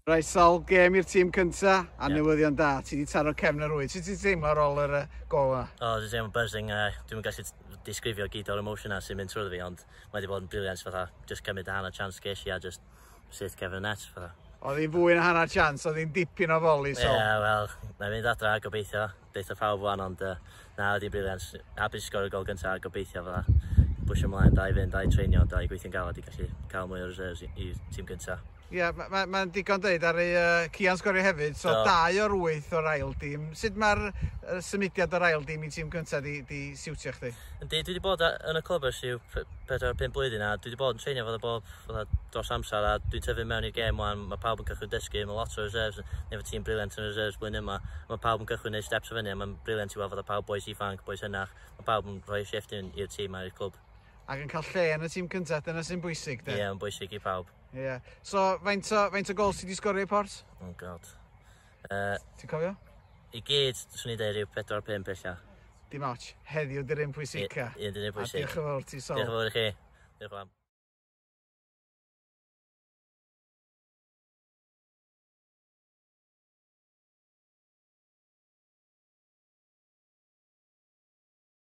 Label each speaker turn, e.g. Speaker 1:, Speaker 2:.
Speaker 1: Reit, Sol, gêm i'r tîm cynta, a yeah. Newyddion da, ti wedi taro cefn yr rwyd. Sut ti'n teimlo ar ôl yr gol yna?
Speaker 2: O, oh, dwi'n teimlo buzzing. Dwi'n gallu disgrifio gyd o'r emosiynau sy'n mynd trwy fi, ond mae wedi bod yn brilliant fatha, just cymryd y hanner chance ges i a just syth cefn y net fatha.
Speaker 1: Oedd hi'n fwy na hanner chance, oedd hi'n dipyn o foli, Sol.
Speaker 2: Ie, yeah, wel, na i fynd adra gobeithio, deutha pawb wan, ond na, oedd hi'n brilliant. Hapus sgorio gol gyntaf, gobeithio fatha, bwysio ymlaen, da i fynd, da i treinio, da i gweithio'n galed i gallu cael mwy o reserves i tîm gyntaf.
Speaker 1: Ie, yeah, mae'n ma, ma digon deud ar ei Cian sgorio hefyd, so do. 2 o'r 8 o'r ail dîm. Sut mae'r symudiad o'r ail dîm i tîm cyntaf di, di siwtio chdi?
Speaker 2: Yndi, dwi wedi bod yn y clwb ers rhyw 4-5 blwyddyn a dwi wedi bod yn treinio fatha bob fatha dros amser a dwi'n tyfu mewn i'r gêm wan, mae pawb yn cychwyn dysgu, mae lot o reserves, efo tîm brilliant yn reserves blwyddyn yma, mae pawb yn cychwyn neud steps o fyny a mae'n brilliant i weld fatha pawb boys ifanc, boys hynach, mae pawb yn rhoi shift i'r tîm a'r clwb.
Speaker 1: Ac yn cael lle yn y tîm cyntaf, dyna sy'n bwysig, de?
Speaker 2: Ie, yeah, yn bwysig i pawb.
Speaker 1: Ie. Yeah. So, faint o, faint o gols ti wedi sgorio i Port?
Speaker 2: Oh God.
Speaker 1: Ti'n cofio?
Speaker 2: I gyd, swn i'n dweud rhyw 4-5 ella.
Speaker 1: Dim ots, heddiw di'r un pwysica.
Speaker 2: Un di'r un pwysig.
Speaker 1: A diolch yn fawr ti, Sol.
Speaker 2: Diolch yn fawr i chi. Diolch yn fawr.